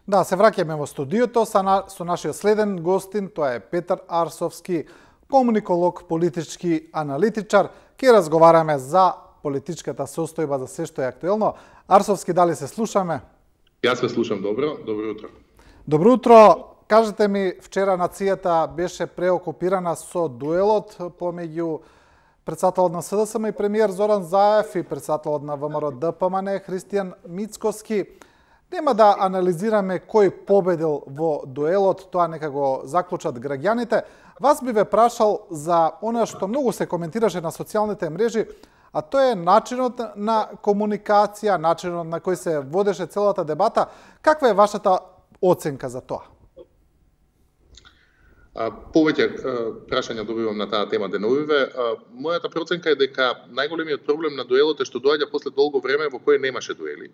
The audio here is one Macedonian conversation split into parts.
Да, се враќаме во студиото со нашиот следен гостин, тоа е Петар Арсовски, комуниколог, политички аналитичар. Ке разговараме за политичката состојба, за се што е актуелно. Арсовски, дали се слушаме? Јас се слушам добро утро. Добро утро. Кажете ми, вчера нацијата беше преокупирана со дуелот помеѓу председателот на СДСМ и премиер Зоран Заев и председателот на ВМРО ДПМН Христијан Мицкоски. Нема да анализираме кој победил во дуелот, тоа нека го заклучат граѓаните. Вас би ве прашал за она што многу се коментираше на социјалните мрежи, а тоа е начинот на комуникација, начинот на кој се водеше целата дебата. Каква е вашата оценка за тоа? Повеќе прашања добивам на таа тема деновиве. Мојата проценка е дека најголемиот проблем на дуелот е што доаѓа после долго време во кое немаше дуели.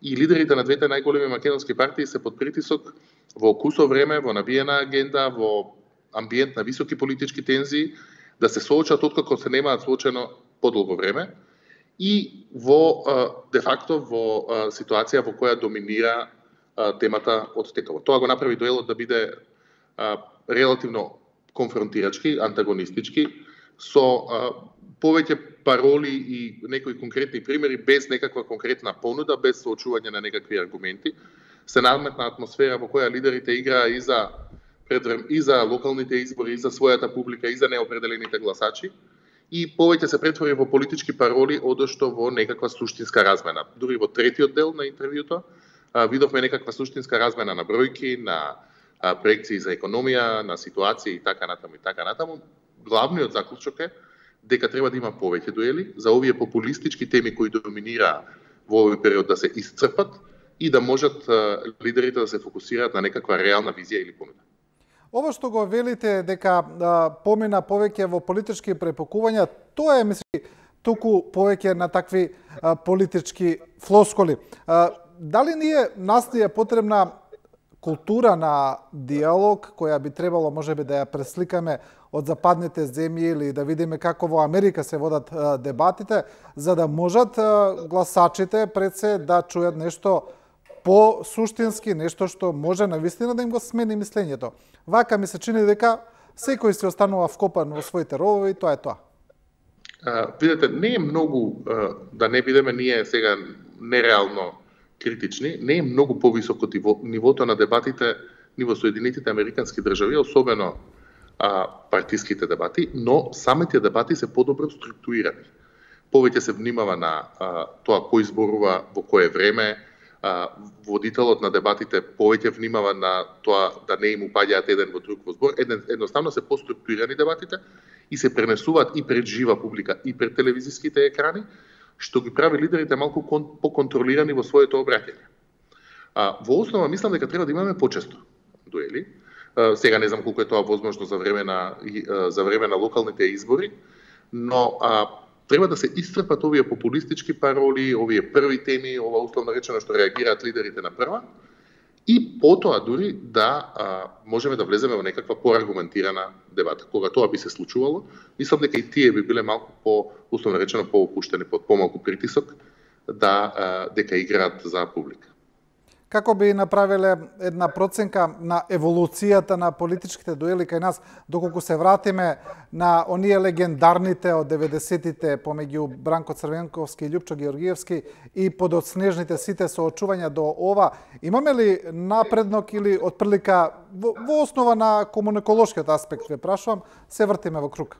И лидерите на двете најголеми македонски партии се под притисок во кусо време, во набиена агенда, во амбиент на високи политички тензии, да се соочат откако се немаат соочено подолго време и во де факто во ситуација во која доминира темата од текаво. Тоа го направи дуелот да биде релативно конфронтирачки, антагонистички, со повеќе пароли и некои конкретни примери, без некаква конкретна понуда, без соочување на некакви аргументи. Се наметна атмосфера во која лидерите играа и за локалните избори, и за својата публика, и за неопределените гласачи, и повеќе се претвори во политички пароли, одошто во некаква суштинска размена. Дури во третиот дел на интервјуто видовме некаква суштинска размена на бројки, на проекции за економија, на ситуации и така натаму. Главниот заклучок е дека треба да има повеќе дуели за овие популистички теми кои доминираа во овој период да се исцрпат и да можат лидерите да се фокусираат на некаква реална визија или понуда. Ова што го велите дека помина повеќе во политички препокувања, тоа е, мисли, туку повеќе на такви политички флоскули. Дали нас ни е потребна култура на диалог, која би требало можеби да ја пресликаме од западните земји или да видиме како во Америка се водат дебатите, за да можат гласачите пред се да чујат нешто по-суштински, нешто што може навистина да им го смени мислењето. Вака ми се чини дека секој се останува вкопан во своите ровови и тоа е тоа. Видете, не е многу, да не бидеме ние сега нереално критични, не е многу повисоко нивото на дебатите ни во Соединетите Американски држави, особено партиските дебати, но самите дебати се подобро структурирани. Повеќе се внимава на тоа кој зборува во кое време, водителот на дебатите повеќе внимава на тоа да не им упаѓаат еден во друг во збор. Едноставно се поструктурирани дебатите и се пренесуваат и пред жива публика и пред телевизиските екрани, што ги прави лидерите малку поконтролирани во своето обраќање. Во основа мислам дека треба да имаме почесто дуели. Сега не знам колку е тоа возможно за време на локалните избори, но треба да се исцрпат овие популистички пароли, овие први теми, ова условно речено што реагираат лидерите на прва, и потоа дури да можеме да влеземе во некаква поаргументирана дебата. Кога тоа би се случувало, мислам дека и тие би биле малку условно речено поопуштени под помалку притисок дека играат за публика. Како би направиле една проценка на еволуцијата на политичките дуели кај нас, доколку се вратиме на оние легендарните од 90-тите помеѓу Бранко Црвенковски и Љупчо Георгиевски и подоцнежните сите соочувања до ова, имаме ли напреднок или отприлика во основа на комуниколошкиот аспект, ве прашувам, се вртиме во круг?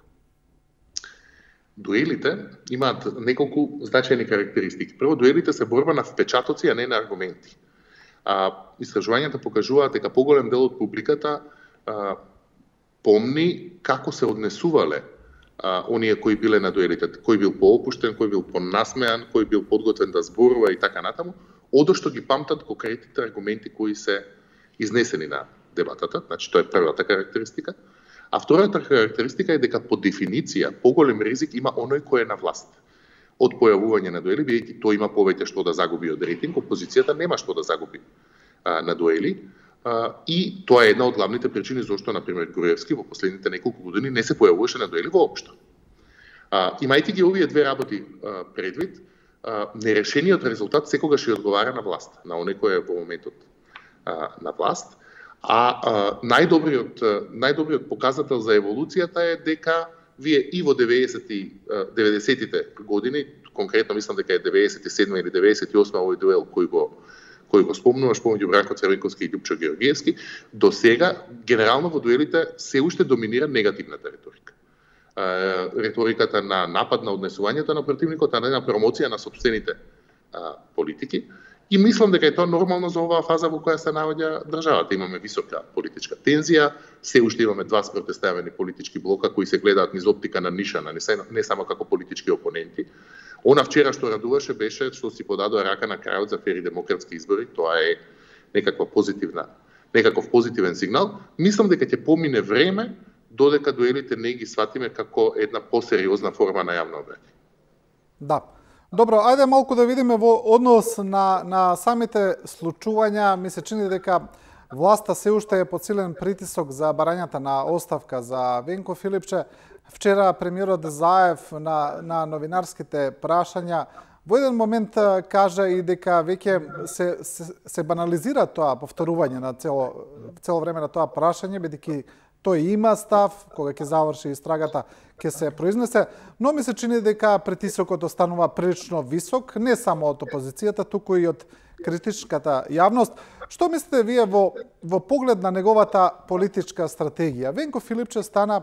Дуелите имаат неколку значајни карактеристики. Прво, дуелите се борба на впечатоци, а не на аргументи. Истражувањата покажуваат дека поголем дел од публиката помни како се однесувале оние кои биле на дуелите, кој бил поопуштен, кој бил понасмеан, кој бил подготвен да зборува и така натаму, одошто ги памтат конкретните аргументи кои се изнесени на дебатата, значи тоа е првата карактеристика. А втората карактеристика е дека по дефиниција поголем ризик има оној кој е на власт. Од појавување на дуели, бидејќи тој има повеќе што да загуби од рейтинг, опозицијата нема што да загуби на дуели. И тоа е една од главните причини зашто, например, Груевски во последните неколку години не се појавуваше на дуели воопшто. Имајќи ги овие две работи предвид, нерешениот резултат секогаш ја одговара на власт, на оној кој е во моментот на власт. Најдобриот показател за еволуцијата е дека вие и во 90-тите години, конкретно мислам дека е 97 или 98 овој дуел кој го спомнуваш помеѓу Бранко Црвенковски и Љупчо Георгиевски, до сега генерално во дуелите се уште доминира негативната риторика. Риториката на напад на однесувањето на противникот, а не на промоција на сопствените политики. И мислам дека е тоа нормално за оваа фаза во која се наоѓа државата. Имаме висока политичка тензија, се уште имаме два спротивставени политички блока кои се гледаат низ оптика на нишана, не само како политички опоненти. Она вчера што радуваше беше што си подадоа рака на крајот за фери демократски избори. Тоа е некаков позитивен сигнал. Мислам дека ќе помине време додека дуелите не ги сватиме како една посериозна форма на јавна обраќање. Да. Добро, ајде малку да видиме во однос на самите случувања. Ми се чини дека власта се уште е под силен притисок за барањата на оставка за Венко Филипче. Вчера премиерот Заев на новинарските прашања во еден момент кажа и дека веќе се банализира тоа повторување на цело време на тоа прашање, бидејќи тој има став, кога ќе заврши истрагата, ќе се произнесе, но ми се чини дека притисокот останува прилично висок, не само од опозицијата, туку и од критичката јавност. Што мислите вие во поглед на неговата политичка стратегија? Венко Филипче стана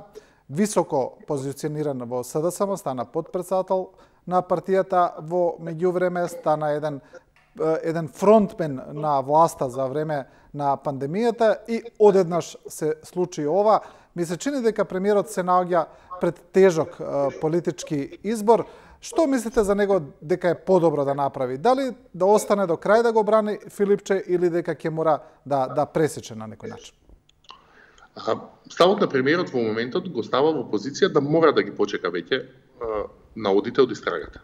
високо позициониран во СДСМ, стана подпредседател на партијата, во меѓувреме стана еден фронтмен на власта за време на пандемијата и одеднаш се случи ова. Ми се чини дека премиерот се наоѓа пред тежок политички избор. Што мислите за него дека е подобро да направи? Дали да остане до крај да го брани Филипче или дека ќе мора да пресече на некој начин? Ставот на премиерот во моментот го става во позиција да мора да ги почека веќе наодите од истрагата.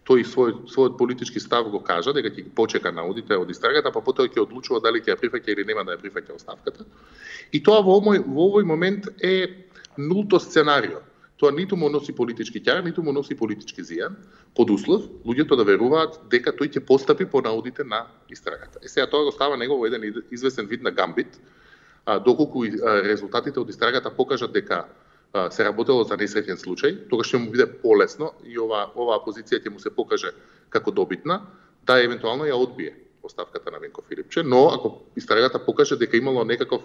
Тој својот политички став го кажа дека ќе ги почека наодите од истрагата, па потоа ќе одлучува дали ќе ја прифаќа или нема да ја прифаќа оставката. И тоа во овој момент е нулто сценарио. Тоа ниту му носи политички ќар, ниту му носи политички зијан, под услов луѓето да веруваат дека тој ќе постапи по наодите на истрагата. Сега тоа го става негово еден известен вид на гамбит, доколку резултатите од истрагата покажат дека се работело за несреќен случај, тогаш ќе му биде полесно и оваа позиција ќе му се покаже како добитна, да евентуално ја одбие оставката на Венко Филипче, но ако истрагата покаже дека имало некаков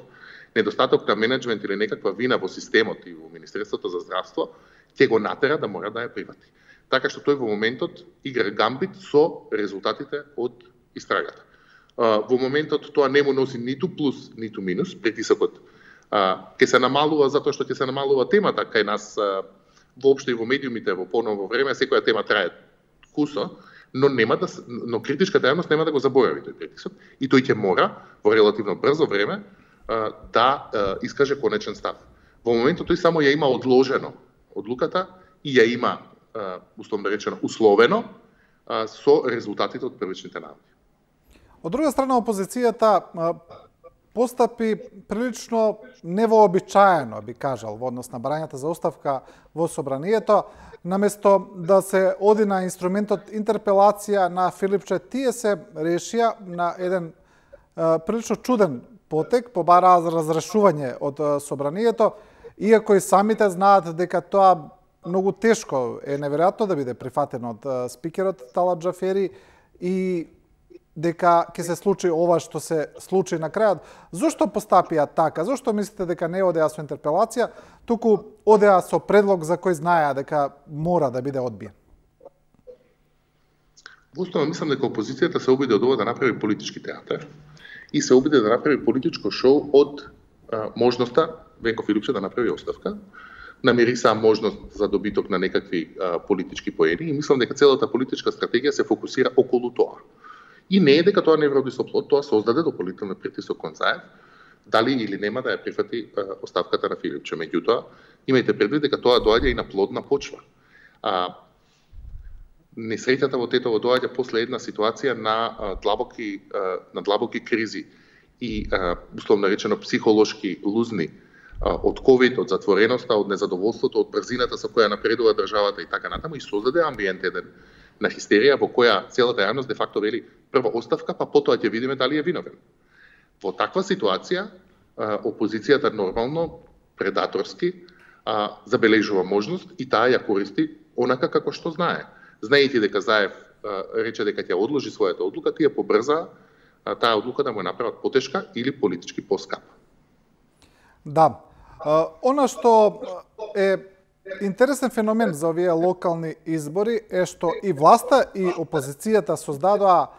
недостаток на менеджмент или некаква вина во системот и во Министерството за здравство, ќе го натера да мора да ја прифати. Така што тој во моментот игра гамбит со резултатите од истрагата. Во моментот тоа не му носи ниту плюс, ниту минус, притисокот ќе се намалува затоа што ќе се намалува темата кај нас воопшто и во медиумите во поново време, секоја тема трае кусо, но критичката јавност нема да го заборави тој притисок и тој ќе мора во релативно брзо време да искаже конечен став. Во моментот тој само ја има одложено одлуката и ја има условно речено условено со резултатите од првичните наоди. Од друга страна, опозицијата постапи прилично невообичаено, би кажал, во однос на барањата за оставка во собранието. Наместо да се оди на инструментот интерпелација на Филипче, тие се решија на еден прилично чуден потек, побараа разрешување од собранието, иако и самите знаат дека тоа многу тешко е неверојатно да биде прифатено од спикерот Талат Џафери и дека ќе се случи ова што се случи на крајот. Зошто постапија така? Зошто мислите дека не одеа со интерпелација, туку одеа со предлог за кој знаеа дека мора да биде одбиен? Востанов мислам дека опозицијата се обиде од ова да направи политички театар и се обиде да направи политичко шоу од можноста Венко Филипче да направи оставка. Намириса можност за добиток на некакви политички поени и мислам дека целата политичка стратегија се фокусира околу тоа. И не е дека тоа не вроди со плод, тоа создаде дополнителен притисок кон Заев, дали или нема да ја прифати оставката на Филипче. Меѓутоа, имајте предвид дека тоа доаѓа и на плодна почва. Несреќата во Тетово доаѓа после една ситуација на длабоки кризи и условно речено психолошки лузни од ковид, од затвореноста, од незадоволството, од брзината со која напредува државата и така натаму и создаде амбиент еден на хистерија во која целата јавност де факто вели прво оставка, па потоа ќе видиме дали е виновен. Во таква ситуација, опозицијата нормално, предаторски, забележува можност и таа ја користи онака како што знае. Знаејќи дека Заев рече дека ќе одложи својата одлука, тие побрзаа таа одлука да му направат потешка или политички поскапа. Да. Она што е интересен феномен за овие локални избори е што и власта и опозицијата создадоа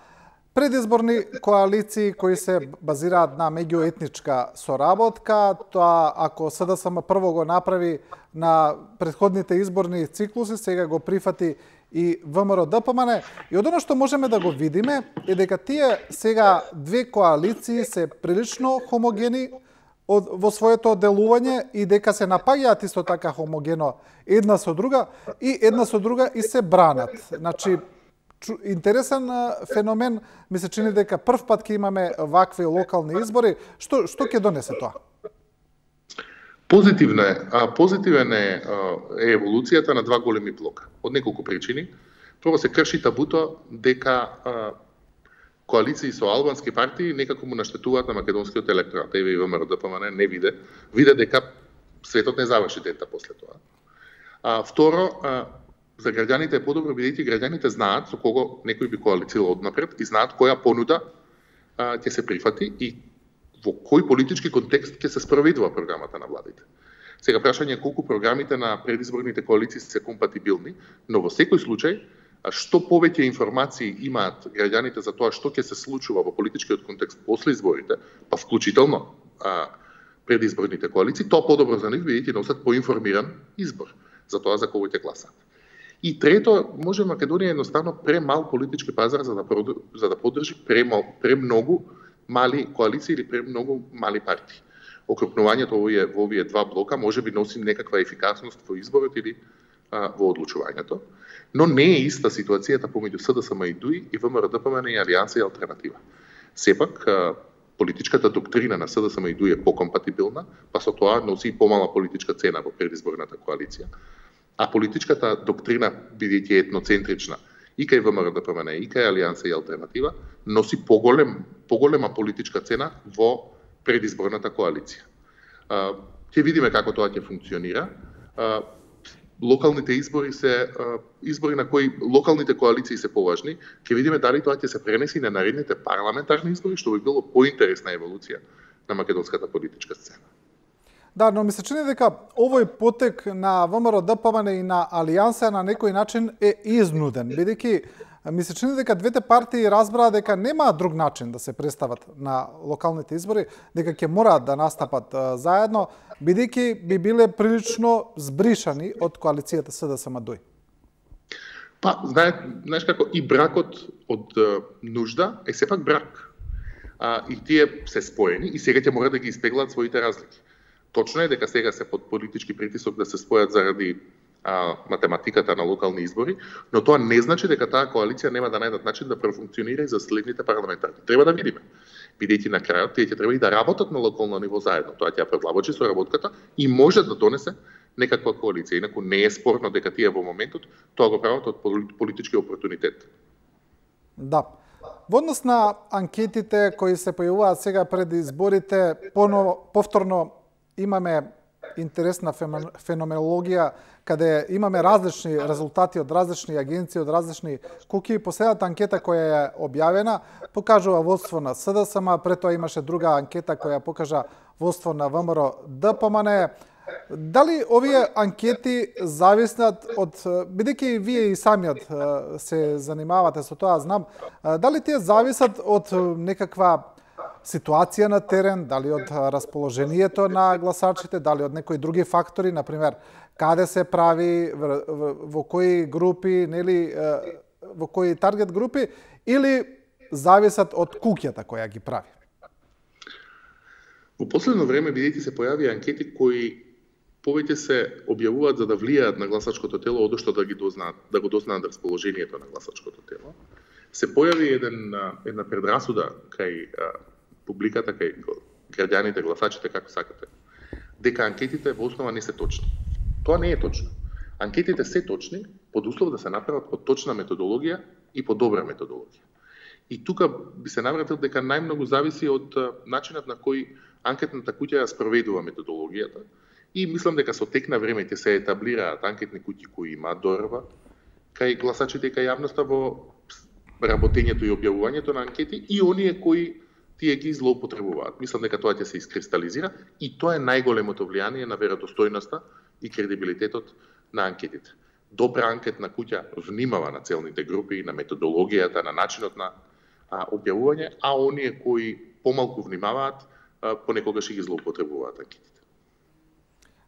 предизборни коалиции кои се базираат на меѓуетничка соработка. Тоа ако СДСМ прво го направи на претходните изборни циклуси, сега го прифати и ВМРО ДПМН. И од оно што можеме да го видиме е дека тие сега две коалиции се прилично хомогени во своето делување и дека се напаѓаат исто така хомогено една со друга и се бранат. Значи, интересен феномен, ми се чини дека прв пат ќе имаме вакви локални избори. Што ќе донесе тоа? Позитивен е еволуцијата на два големи блока. Од неколку причини. Прво се крши табуто дека коалиции со албански партии некако му наштетуваат на македонскиот електорат. Еве и ВМРО ДПМН не виде дека светот не заврши дента после тоа. Второ, за граѓаните е подобро бидејќи граѓаните знаат со кого некој би коалицирал однапред и знаат која понуда ќе се прифати и во кој политички контекст ќе се спроведува програмата на владите. Сега прашање е колку програмите на предизборните коалиции се компатибилни, но во секој случај што повеќе информации имаат граѓаните за тоа што ќе се случува во политичкиот контекст после изборите, па вклучително предизборните коалиции, тоа подобро за нив бидејќи носат поинформиран избор за тоа за кого ќе гласаат. И трето, може Македонија едноставно премал политички пазар за да поддржи премногу мали коалиции или премногу мали партии. Окрупнувањето во овие два блока може би носи некаква ефикасност во изборот или во одлучувањето, но не е иста ситуацијата помеѓу СДСМ и ДУИ и ВМРО ДПМН и Алијанса и Алтернатива. Сепак, политичката доктрина на СДСМ и ДУИ е покомпатибилна, па со тоа носи и помала политичка цена во предизборната коалиција. А политичката доктрина, бидејќи етноцентрична, и кај ВМРО ДПМН, и кај Алијанса и Алтернатива, носи поголема политичка цена во предизборната коалиција. Ќе видиме како тоа ќе функционира. Локалните избори се избори на кои локалните коалиции се поважни. Ќе видиме дали тоа ќе се пренеси на наредните парламентарни избори, што би било поинтересна еволуција на македонската политичка сцена. Да, но ми се чини дека овој потек на ВМРО ДПМН и на Алијанса на некој начин е изнуден, бидејќи ми се чини дека двете партии разбраа дека нема друг начин да се представат на локалните избори, дека ќе мораат да настапат заедно, бидејќи би биле прилично збришани од коалицијата СДСМ ДУИ. Па, знаеш како и бракот од нужда е сепак брак. И тие се споени и сега ќе мора да ги испеглат своите разлики. Точно е дека сега се под политички притисок да се спојат заради математиката на локални избори, но тоа не значи дека таа коалиција нема да најдат начин да профункционира и за следните парламентарни. Треба да видиме. Бидејќи на крајот тие ќе треба и да работат на локално ниво заедно. Тоа ќе ја предлабочи соработката и може да донесе некаква коалиција. Инаку не е спорно дека тие во моментот тоа го прават од политички опортунитет. Да. Во однос на анкетите кои се појавуваат сега пред изборите, повторно имаме интересна феноменологија, каде имаме различни резултати од различни агенции, од различни куки. Последната анкета која е објавена покажува водство на СДСМ, пред тоа имаше друга анкета која покажа водство на ВМРО ДПМН. Дали овие анкети зависат од, бидејќи вие и самиот се занимавате со тоа, знам, дали тие зависат од некаква ситуација на терен, дали од расположението на гласачите, дали од некои други фактори, например, каде се прави, во кои групи, нели, во кои таргет групи, или зависат од куќата која ги прави? Во последно време, бидејќи се појави анкети кои повеќе се објавуваат за да влијаат на гласачкото тело, одошто да го дознаат расположението на гласачкото тело, се појави една предрасуда кај публиката, кај граѓаните, гласачите, како сакате, дека анкетите во основа не се точни. Тоа не е точно. Анкетите се точни под услов да се направат по точна методологија и по добра методологија. И тука би се навратил дека најмногу зависи од начинот на кој анкетната куќа ја спроведува методологијата. И мислам дека со тек на време ќе се етаблираат анкетни куќи кои имаат дорба кај гласачите и кај јавноста во работењето и објавувањето на анкети и оние кои тие ги злоупотребуваат. Мислам дека тоа ќе се искристализира и тоа е најголемото влијание на веродостојноста и кредибилитетот на анкетите. Добра анкетна куќа внимава на целните групи, на методологијата, на начинот на објавување, а оние кои помалку внимаваат, понекогаш и ги злоупотребуваат анкетите.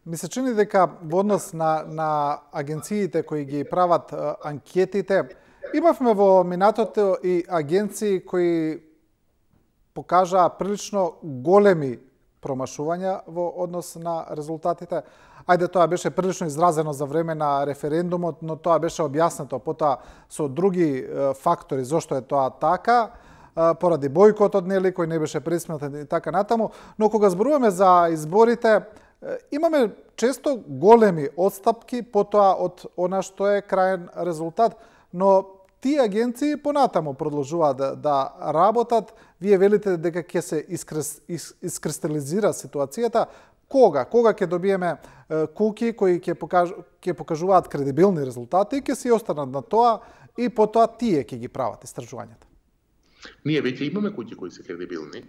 Ми се чини дека во однос на агенциите кои ги прават анкетите, имавме во минатото и агенции кои покажаа прилично големи промашувања во однос на резултатите. Ајде, тоа беше прилично изразено за време на референдумот, но тоа беше објаснето потоа со други фактори зошто е тоа така, поради бојкотот, нели, кој не беше присметен и така натаму. Но кога зборуваме за изборите, имаме често големи отстапки потоа од она што е крајен резултат, но тие агенции понатаму продолжуваат да работат. Вие велите дека ќе се искристализира ситуацијата. Кога ќе добиеме куки кои ќе покажуваат кредибилни резултати и ќе се останат на тоа и потоа тие ќе ги прават истражувањата? Ние веќе имаме куќи кои се кредибилни.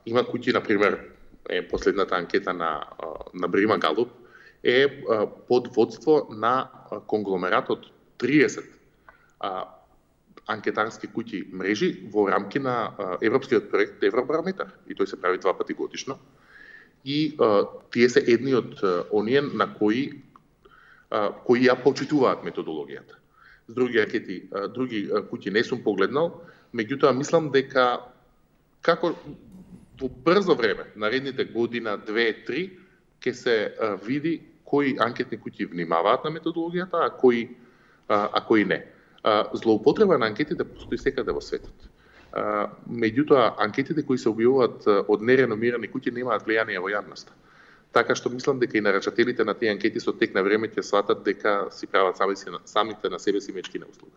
Има куќи, например, последната анкета на Брима Галуп е под водство на конгломератот 30 анкетарски куќи мрежи во рамки на европскиот проект Евробарометар, и тој се прави 2 пати годишно. И тие се едни од оние на кои ја почитуваат методологијата. С други анкети, други куќи не сум погледнал, меѓутоа мислам дека како во брзо време, наредните година, 2-3, ќе се види кои анкетни куќи внимаваат на методологијата, а кои не. Злоупотреба на анкетите постои секаде во светот. Меѓутоа, анкетите кои се објавуваат од нереномирани куќи немаат влијание во јавноста. Така што мислам дека и нарачателите на тие анкети со тек на време ќе сватат дека си прават самите на себе си мечки на услуга.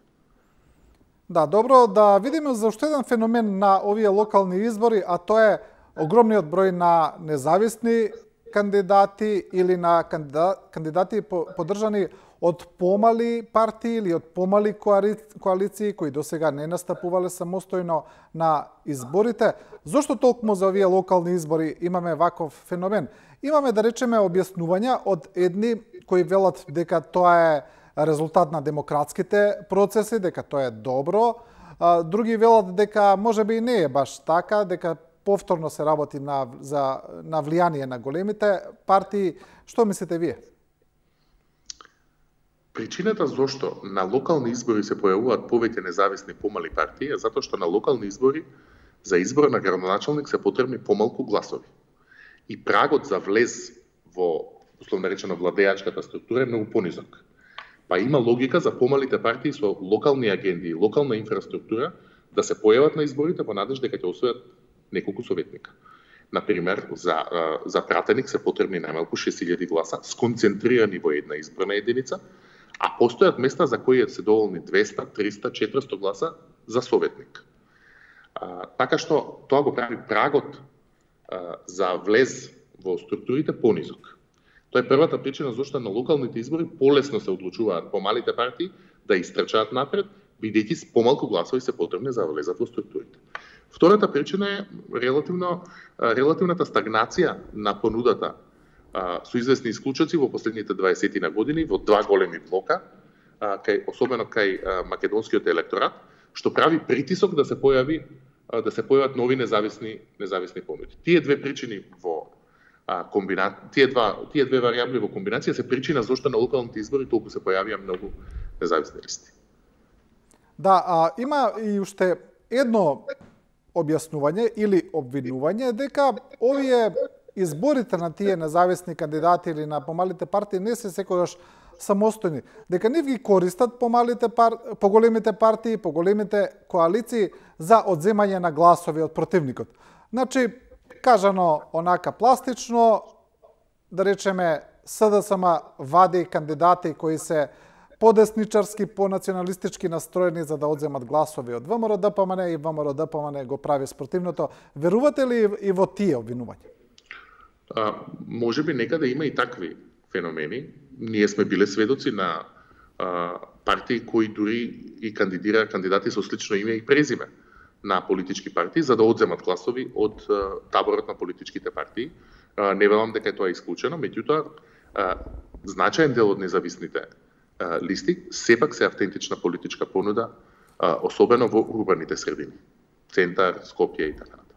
Да, добро, да видиме за уште еден феномен на овие локални избори, а тоа е огромниот број на независни кандидати или на кандидати поддржани од помали партии или од помали коалиции кои досега не настапувале самостојно на изборите. Зошто толкому за овие локални избори имаме ваков феномен? Имаме, да речеме, објаснувања од едни кои велат дека тоа е резултат на демократските процеси, дека тоа е добро. Други велат дека можеби и не е баш така, дека повторно се работи на влијание на големите партии. Што мислите вие? Причината зошто на локални избори се појавуваат повеќе независни помали партии е затоа што на локални избори за избор на градоначалник се потребни помалку гласови. И прагот за влез во, условно речено, владеачката структура е многу понизок. Па има логика за помалите партии со локални агенди и локална инфраструктура да се појават на изборите во надеж дека ќе освојат неколку советника. Например, за пратеник се потребни најмалку 6000 гласа, сконцентрирани во една изборна единица, а постојат места за кои се доволни 200, 300, 400 гласа за советник. Така што тоа го прави прагот за влез во структурите понизок. Тоа е првата причина зашто на локалните избори полесно се одлучуваат помалите партии да истрчаат напред, бидејќи с помалку гласови се потребни за влезат во структурите. Втората причина е релативната стагнација на понудата со известни исклучоци во последните 20 на години во 2 големи блока, особено кај македонскиот електорат, што прави притисок да се појават нови независни понуди. Тие две причини во тие две варијабли во комбинација се причина зашто на локалните избори толку се појавија многу независни листи. Да, има и уште едно објаснување или обвинување дека овие изборите на тие независни кандидати или на помалите партии не се секогаш самостојни, дека не ги користат поголемите партии, поголемите коалиции за одземање на гласови од противникот. Значи, кажано онака пластично, да речеме, СДСМ вади кандидати кои се подесничарски, понационалистички настроени за да одземат гласови од ВМРО-ДПМН и ВМРО-ДПМН го прави спротивното. Верувате ли и во тие обвинувања? Може би некаде има и такви феномени. Ние сме биле сведоци на партии кои дури и кандидира кандидати со слично име и презиме на политички партии за да одземат гласови од таборот на политичките партии. Не велам дека е тоа исклучено, меѓутоа значаен дел од независните листи сепак се автентична политичка понуда, особено во урбаните средини, Центар, Скопје и така натаму.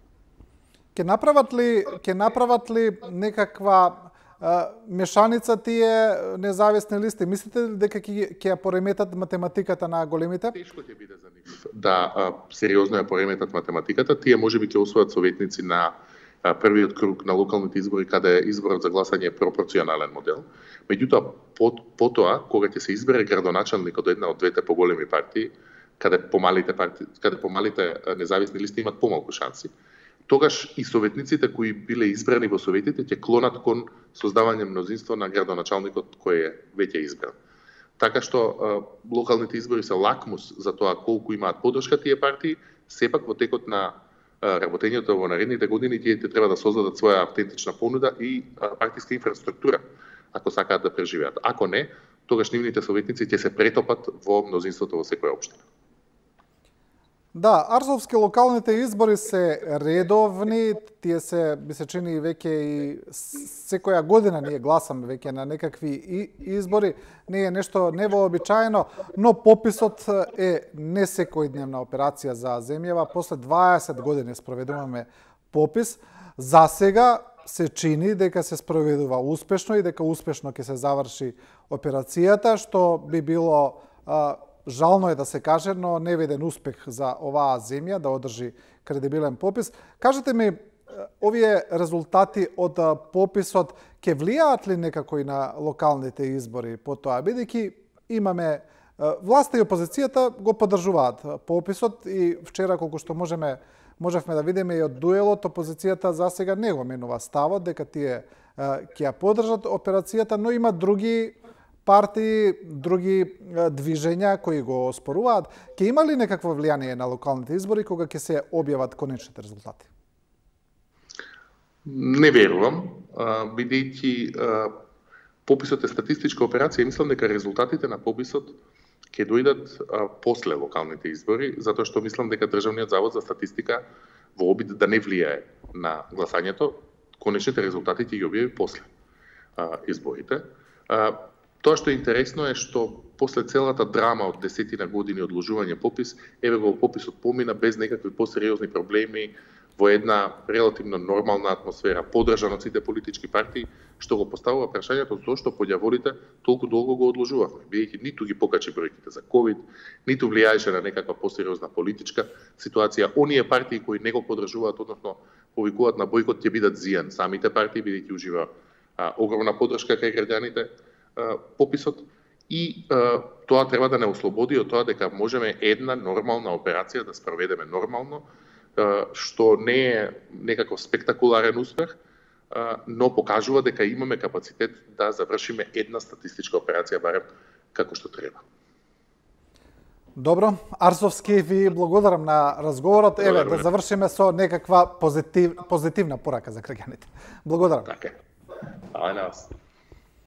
Ќе направат ли некаква мешаница тие независни листи? Мислите ли дека ќе ја пореметат математиката на големите? Тешко ќе биде за нив да сериозно ја пореметат математиката. Тие можеби ќе освојат советници на првиот круг на локалните избори, каде изборот за гласање е пропорционален модел. Меѓутоа, потоа, кога ќе се избере градоначалник од една од двете поголеми партии, каде помалите независни листи имат помалку шанси, тогаш и советниците кои биле избрани во советите ќе клонат кон создавање мнозинство на градоначалникот кој е веќе избран. Така што локалните избори се лакмус за тоа колку имаат поддршка тие партии, сепак во текот на работењето во наредните години тие треба да создадат своја автентична понуда и партиска инфраструктура, ако сакаат да преживеат. Ако не, тогаш нивните советници ќе се претопат во мнозинството во секоја општина. Да, арсовски локалните избори се редовни, тие се, ми се чини веќе и секоја година ние гласаме веќе на некакви избори, не е нешто невообичаено, но пописот е не секојдневна операција за земјава. После 20 години спроведуваме попис. За сега се чини дека се спроведува успешно и дека успешно ќе се заврши операцијата, што би било жално е да се каже, но невиден успех за оваа земја да одржи кредибилен попис. Кажете ми, овие резултати од пописот ќе влијаат ли некако и на локалните избори по тоа, бидејќи имаме власта и опозицијата го поддржуваат пописот и вчера колку што можевме да видиме и од дуелот, опозицијата за сега не го менува ставот дека тие ќе ја поддржат операцијата, но има други партии, други движења кои го оспоруваат. Ќе има ли некакво влијание на локалните избори кога ќе се објават конечните резултати? Не верувам, бидејќи пописот е статистичка операција и мислам дека резултатите на пописот ќе дојдат после локалните избори, затоа што мислам дека Државниот завод за статистика во обид да не влијае на гласањето, конечните резултати ќе ги објави после изборите. Тоа што е интересно е што после целата драма од 10 години одложување попис, еве го пописот помина без некакви посериозни проблеми во една релативно нормална атмосфера, поддржан од сите политички партии, што го поставува прашањето зошто поѓаволите толку долго го одложувавме, бидејќи ниту ги покачи бројките за ковид, ниту влијаеше на некаква посериозна политичка ситуација. Оние партии кои не го поддржуваат, односно повикуваат на бојкот, ќе бидат зијан самите партии, бидејќи ужива огромна поддршка кај граѓаните пописот и тоа треба да не ослободи од тоа дека можеме една нормална операција да спроведеме нормално, што не е некаков спектакуларен успех, но покажува дека имаме капацитет да завршиме една статистичка операција барем како што треба. Добро, Арсовски, ви благодарам на разговорот. Еве, да завршиме со некаква позитивна порака за граѓаните. Благодарам. Така. Ајде на вас.